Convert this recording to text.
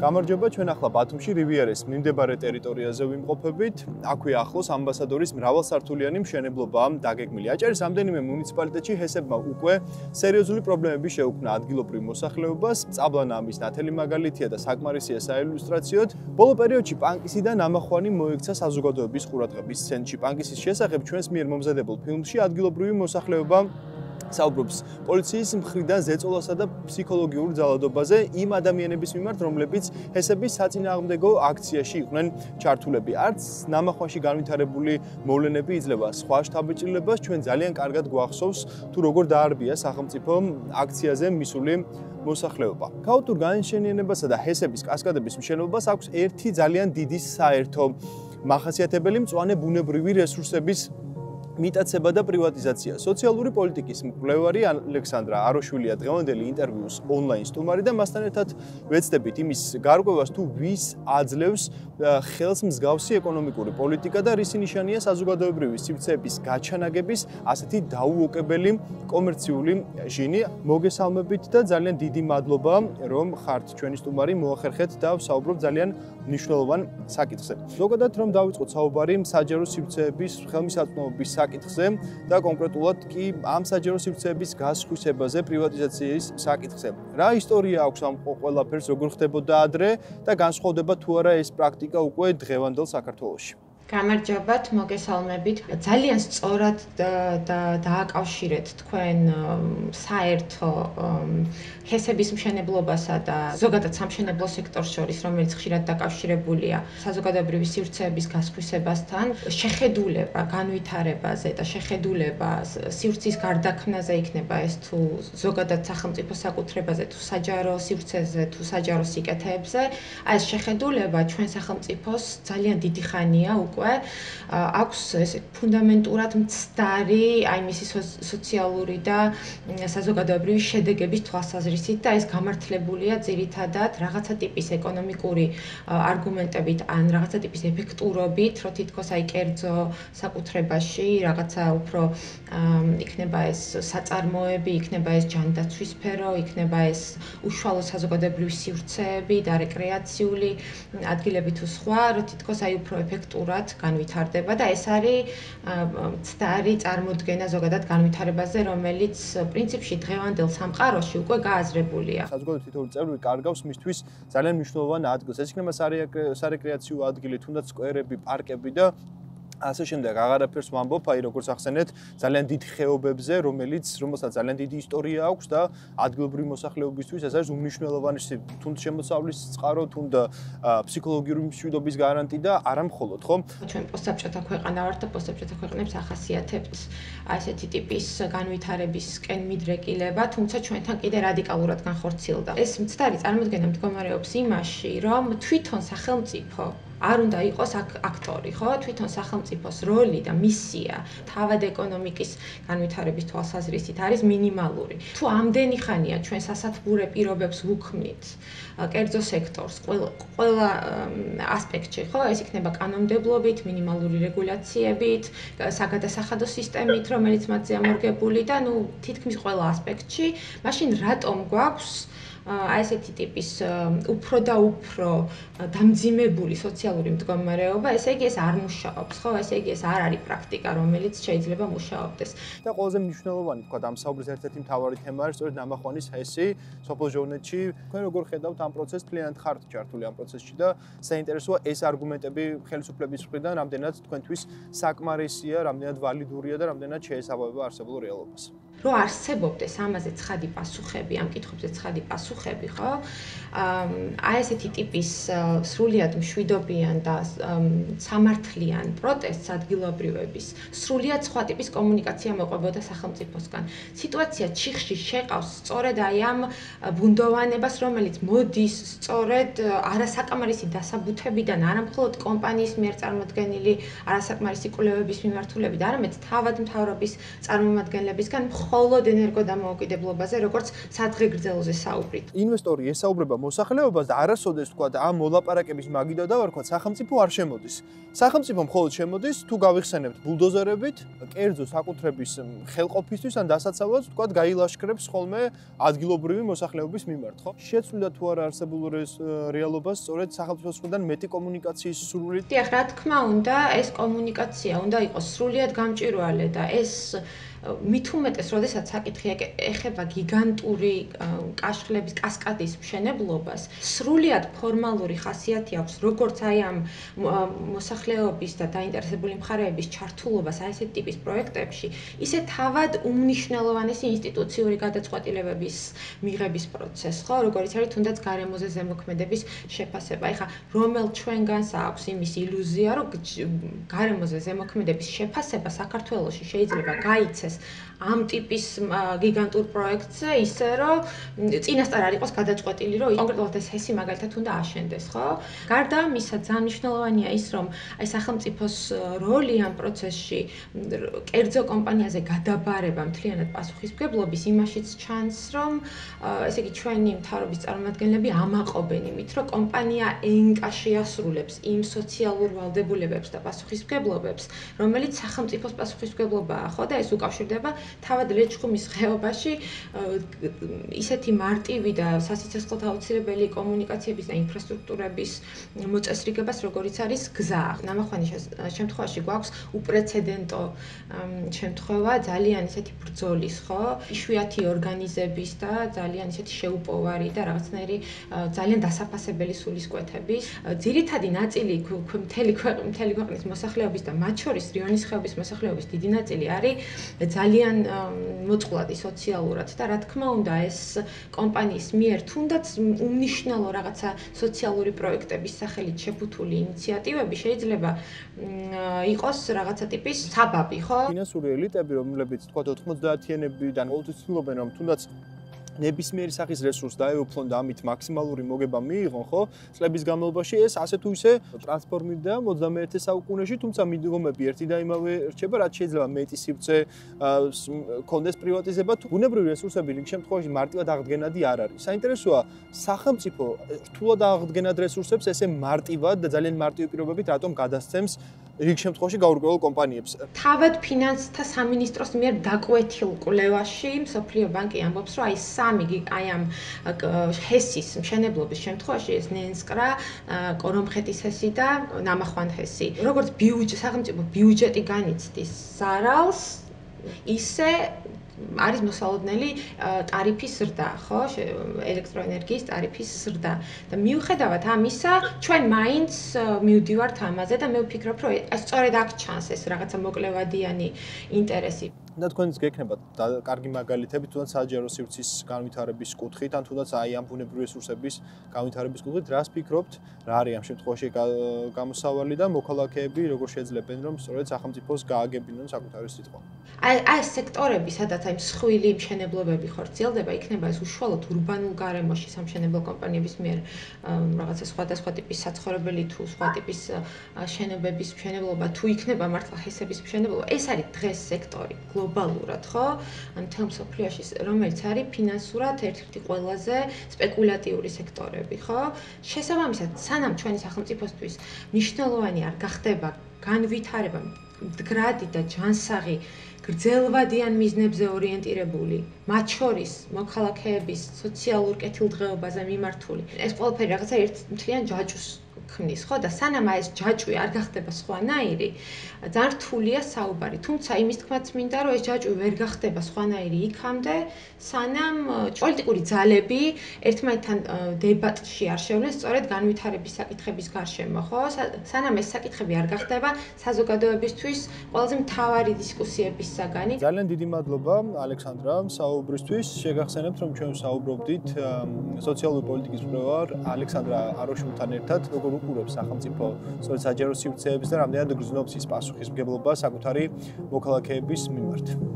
გამარჯობა, ჩვენ ახლა ბათუმში რივიერის მიმდებარე ტერიტორიაზე ვიმყოფებით. აქვე ახლოს ამბასადორის მრავალსართულიანი მშენებლობაა დაგეგმილი. აჭარის რამდენიმე მუნიციპალიტეტში ჰესებმა უკვე სერიოზული პრობლემები შეუქმნა ადგილობრივ მოსახლეობას. წაბლანა ამის ნათელი მაგალითია და საკმარისია საილუსტრაციოდ. ბოლო პერიოდში პანკისიდან ამახვანი მოექცა საზოგადოების ყურადღების ცენტრში. პანკისის შესახებ ჩვენს მიერ მომზადებულ ფილმში ადგილობრივი მოსახლეობა საუბრობს პოლიციის მხრიდან ზეწოლასა და ფსიქოლოგიურ ძალადობაზე იმ ადამიანების მიმართ, რომლებიც ჰესების საწინააღმდეგო აქციაში იყვნენ ჩართულები. არც ნამახვანში განვითარებული მოვლენები იძლევა სხვა შთაბეჭდილებას, ჩვენ ძალიან კარგად გვახსოვს თუ როგორ დაარბია სახელმწიფო აქციაზე მისული მოსახლეობა. ქაოტურ განშენიანებასა და ჰესების კასკადების მშენებლობას აქვს ერთი ძალიან დიდი საერთო მახასიათებელი მწვანე ბუნებრივი რესურსების მიტაცება და პრივატიზაცია. სოციალური პოლიტიკის მკვლევარი ალექსანდრა აროშვილია დღევანდელი ინტერვიუს ონლაინ სტუმარი და მასთან ერთად ვეცდებით იმის გარკვევას თუ ვის აძლევს ხელს მსგავსი ეკონომიკური პოლიტიკა და რისი ნიშანია საზოგადოებრივი სივრცეების გაჩანაგების ასეთი დაუოკებელი კომერციული ჟინი. მოგესალმებით და ძალიან დიდი მადლობა რომ ხართ ჩვენი სტუმარი, მოახერხეთ და ვსაუბრობ ძალიან მნიშვნელოვან საკითხზე. ზოგადად რომ დავიწყოთ საუბარი საჯარო სივრცეების ხელმისაწვდომობის საკითხზე და კონკრეტულად კი ამ საჯარო სივრცეების გასხვისებაზე, პრივატიზაციის საკითხზე. რა ისტორია აქვს ამ ყველაფერს, როგორ ხდებოდა ადრე და განსხვავდება თუ არა ეს პრაქტიკა უკვე დღევანდელ საქართველოში? გამარჯობათ, მოგესალმებით. ძალიან სწორად დააკავშირეთ თქვენ საერთო ჰესების მშენებლობასა და ზოგადად სამშენებლო სექტორს შორის, რომელიც ხშირად დაკავშირებულია საზოგადოებრივი სივრცეების გასხვისებასთან, შეხედულება განვითარებაზე და შეხედულება სივრცის გარდაქმნაზე იქნება ეს თუ ზოგადად სახელმწიფო საკუთრებაზე, თუ საჯარო სივრცეზე, თუ საჯარო სიკეთეებზე. ეს შეხედულება ჩვენ სახელმწიფოს ძალიან დიდი ხანია უკვე აქვს ესე ფუნდამენტურად მცდარი აი მისი სოციალური და საზოგადოებრივი შედეგების თვალსაზრისით და ეს გამართლებულია ძირითადად რაღაცა ტიპის ეკონომიკური არგუმენტებით ან რაღაცა ტიპის ეფექტურობით, რომ თითქოს აი კერძო საკუთრებაში რაღაცა უფრო იქნება ეს საწარმოები, იქნება ეს ჯანდაცვის სფერო, იქნება ეს უშუალო საზოგადოებრივი სივრცეები და რეკრეაციული ადგილები თუ სხვა, რომ თითქოს აი უფრო ეფექტურად განვითარდება და ეს არის მცდარი წარმოდგენა ზოგადად განვითარებაზე, რომელიც პრინციპში დღევანდელ სამყაროში უკვე გააზრებულია. საზოგადოების თითოეული წევრი კარგავს მისთვის ძალიან მნიშვნელოვან ადგილს. ეს იქნება სარეკრეაციო ადგილი, თუნდაც სკვერები, პარკები და ასე შემდეგ. აღარაფერს ვამბობ, აი როგორც ახსენეთ, ძალიან დიდ ხეობებზე, რომელსაც ძალიან დიდი ისტორია აქვს და ადგილობრივი მოსახლეობისთვის ეს არის უმნიშვნელოვანი თუნდაც შემოსავლის წყარო, თუნდაც ფსიქოლოგიური მშვიდობის გარანტი და არა მხოლოდ, ხო? ჩვენ პოსტსაბჭოთა ქვეყანა ვართ და პოსტსაბჭოთა ქვეყნებს ახასიათებთ ასეთი ტიპის განვითარებისკენ მიდრეკილება, თუმცა ჩვენთან კიდე რადიკალურად განხორციელდა. ეს მცდარი წარმოდგენა მდგომარეობს იმაში, რომ თვითონ სახელმწიფო არ უნდა იყოს აქტორი, ხო? თვითონ სახელმწიფოს როლი და მისია თავად ეკონომიკის განვითარების თვალსაზრისით არის მინიმალური. თუ ამდენი ხანია ჩვენ სასათბურე პირობებს ვუქმნით კერძო სექტორს ყველა ასპექტში, ხო? ეს იქნება კანონმდებლობით, მინიმალური რეგულაციებით, საგადასახადო სისტემით, რომელიც მათზე ამორგებული და ნუ თითქმის ყველა ასპექტში, მაშინ რატომ გვაქვს აი ესეთი ტიპის უფრო და უფრო დამძიმებული სოციალური მდგომარეობა, ესე იგი ეს არ მუშაობს, ხო? ესე იგი ეს არ არის პრაქტიკა, რომელიც შეიძლება მუშაობდეს. და ყველაზე მნიშვნელოვანი, თქვა, ამ საუბრის ერთ-ერთი მთავარი თემა არის სწორედ ნამახვანის ჰესი სოფელ ჟოლნეთში. თქვენ როგორ ხედავთ ამ პროცესს? მთლიანად ხართ ჩართული ამ პროცესში და საინტერესოა ეს არგუმენტები ხელისუფლების მხრიდან რამდენად თქვენთვის საკმარისია, რამდენად ვალიდურია და რამდენად შეესაბამება არსებულ რეალობას. რო არსებობდეს ამაზე ცხადი პასუხები, ამ კითხვებზე ცხადი პასუხები, ხო? აი ესეთი ტიპის სრულიად მშვიდობიან და სამართლიან პროტესტს ადგილობრივების სრულიად სხვა ტიპის კომუნიკაცია მოყვებოდა სახელმწიფოსგან. სიტუაცია ჩიხში შეყავს სწორედ აი ამ ბუნდოვანებას, რომელიც მოდის სწორედ არასაკმარისი დასაბუთებიდან, არა მხოლოდ კომპანიის მიერ წარმოდგენილი არასაკმარისი კვლევების მიმართულებით, არამედ თავად მთავრობის წარმომადგენლებისგან მხოლოდ ენერგოდამოუკიდებლობაზე, როგორც სადღე გრძელზე საუბრით. ინვესტორი ესაუბრება მოსახლეობას და არასოდეს თქვა ამ მოლაპარაკების მაგიდა დავარქვა სახელმწიფო არ შემოდის. სახელმწიფო მხოლოდ შემოდის თუ გავიხსენებთ ბულდოზერებით, კერძო საკუთრების ხელყოფისთვის ან დასაცავად თქვა გაილაშქრებს ხოლმე ადგილობრივი მოსახლეობის მიმართ, ხო? შეცვლიდა თუ არა არსებულ რეალობას სწორედ სახელმწიფოს მხრიდან მეტი კომუნიკაციის სურვილით? დიახ, რა თქმა უნდა, ეს კომუნიკაცია უნდა იყოს სრულიად გამჭვირვალე და ეს მით უმეტეს, როდესაც საკითხი ეხება გიგანტური კაშხლების კასკადის მშენებლობას, სრულიად ფორმალური ხასიათი აქვს, როგორც აი ამ მოსახლეობის და დაინტერესებული მხარეების ჩართულობას აი ესეთ ტიპის პროექტებში, ისე თავად უმნიშვნელოვანესი ინსტიტუციური გადაწყვეტილებების მიღების პროცესს, ხო, როგორც არის თუნდაც გარემოზე ზემოქმედების შეფასება. ეხლა რომელ ჩვენგანს აქვს იმის ილუზია, რომ გარემოზე ზემოქმედების შეფასება საქართველოში შეიძლება გაიცეს ამ ტიპის გიგანტურ პროექტზე ისე რომ წინასწარ არ იყოს გადაწყვეტილი რომ კონკრეტულად ეს ჰესი მაგალითად უნდა აშენდეს, ხო? გარდა ამისა ძალიან მნიშვნელოვანია ის რომ აი სახელმწიფოს როლი ამ პროცესში კერძო კომპანიაზე გადაბარება მთლიანად პასუხისმგებლობის იმაშიც ჩანს რომ ესე იგი ჩვენი მთავრობის წარმომადგენლები ამაყობენ იმით რომ კომპანია ენკაში ასრულებს იმ სოციალურ ვალდებულებებს და პასუხისმგებლობებს რომელიც სახელმწიფოს პასუხისმგებლობაა, ხო და ეს უკავშირდება თავად ლეჩხუმის ხეობაში ისეთი მარტივი და სასიცოცხლოდ აუცილებელი კომუნიკაციების და ინფრასტრუქტურების მოწესრიგებას, როგორიც არის გზა. ნამახვანის შემთხვევაში გვაქვს უპრეცედენტო შემთხვევა ძალიან ისეთი ბრძოლის, ხო? იშვიათი ორგანიზების და ძალიან ისეთი შეუპოვარი და რაღაცნაირი ძალიან დასაფასებელი სულისკვეთების. ძირითადი ნაწილი მთელი ქვეყნის მოსახლეობის და მათ შორის რიონის ხეობის მოსახლეობის დიდი ნაწილი არის ძალიან მოწყვლადი სოციალურად და რა თქმა უნდა ეს კომპანიის მიერ თუნდაც უმნიშვნელო რაღაცა სოციალური პროექტების სახელით შეფუთული ინიციატივები შეიძლება იყოს რაღაცა ტიპის საბაბი, ხო? ფინანსური ელიტები, რომლებიც თქვა 90-იანებიდან ყოველთვის ცდილობენ რომ თუნდაც ნებისმიერი სახის რესურს დაეუფლონ და ამით მაქსიმალური მოგება მიიღონ, ხო? წლების განმავლობაში ეს ასე თუ ისე ტრანსფორმირდა 21 საუკუნეში, თუმცა მიდგომები ერთი და იმავე რჩება, რაც შეიძლება მეტი სივრცე კონდეს პრივატიზება, თუ ბუნებრივი რესურსები რიგ შემთხვევაში მარტივად აღდგენადი არ არის. საინტერესოა, სახელმწიფო რთულად აღდგენად რესურსებს ესე მარტივად და ძალიან მარტივი პირობებით რატომ გადასცემს რიგ შემთხვევაში გაურკვეველ კომპანიებს. თავად ფინანსთა სამინისტროს მიერ დაკვეთილ კვლევაში მსოფლიო ბანკი ამბობს, რომ აი სამი აი ამ ჰესის მშენებლობის შემთხვევაში ეს ნენსკრა, კორომხეთის ჰესი და ნამახვან ჰესი. როგორც სახელმწიფო ბიუჯეტი განიცდის ზარალს, ისე არის მოსალოდნელი ტარიფის ზრდა, ხო? ელექტროენერგიის ტარიფის ზრდა. და მიუხედავად ამისა, ჩვენ მაინც მივდივართ ამაზე და მე ვფიქრობ, რომ სწორედ აქ ჩანს ეს რაღაცა მოკლევადიანი ინტერესი. და თქვენს გექნებათ კარგი მაგალითები თუნდაც საჯარო სივრცის განვითარების კუთხით, ან თუნდაც აი ამ ბუნებრივი რესურსების განვითარების კუთხით, რას ფიქრობთ, რა არის ამ შემთხვევაში გამოსავალი და მოქალაქეები როგორ შეძლებენ რომ სწორედ სახელმწიფოს გააგებინონ საკუთარი სიტყვა? აი ეს სექტორები, სადაც აი მსხვილი მშენებლობები ხორციელდება, იქნება ეს უშუალოდ ურბანულ გარემოში სამშენებლო კომპანიების მიერ რაღაცა სხვადასხვა ტიპის საცხოვრებელი თუ სხვა ტიპის შენობების მშენებლობა, თუ იქნება მართლა ჰესების მშენებლობა, ეს არის დღეს სექტორი გლობალურად, ხო? ან მთელ მსოფლიოში, რომელიც არის ფინანსურად ერთ-ერთი ყველაზე სპეკულატიური სექტორები, ხო? შესაბამისად, სანამ ჩვენი სახელმწიფოსთვის მნიშვნელოვანი არ გახდება განვითარება მდგრადი და ჯანსაღი გრძელვადიან მიზნებზე ორიენტირებული, მათ შორის მოქალაქეების სოციალურ კეთილდღეობაზე მიმართული. ეს ყველაფერი რაღაცა ერთ მთლიან ჯაჭვს ქმნის, ხო? და სანამ ეს ჯაჭვი არ გახდება სხვანაირი, ძალიან რთულია საუბარი. თუმცა იმის თქმაც მინდა, რომ ეს ჯაჭვი ვერ გახდება სხვანაირი იქამდე, სანამ პოლიტიკური ძალები ერთმანეთთან დებატში არ შევლენ სწორედ განვითარების საკითხების გარშემო, ხო? სანამ ეს საკითხები არ გახდება საზოგადოებისთვის ყველაზე მთავარი დისკუსიების საგანი. ძალიან დიდი მადლობა ალექსანდრა საუბრისთვის. შეგახსენებთ, რომ ჩვენ საუბრობდით სოციალური პოლიტიკის მკვლევარ ალექსანდრა აროშულთან ერთად, როგორ უყურებს სახელმწიფო სწორედ საჯარო სივრცეებს და რამდენად გრძნობს ის პასუხისმგებლობა საკუთარი მოქალაქეების მიმართ.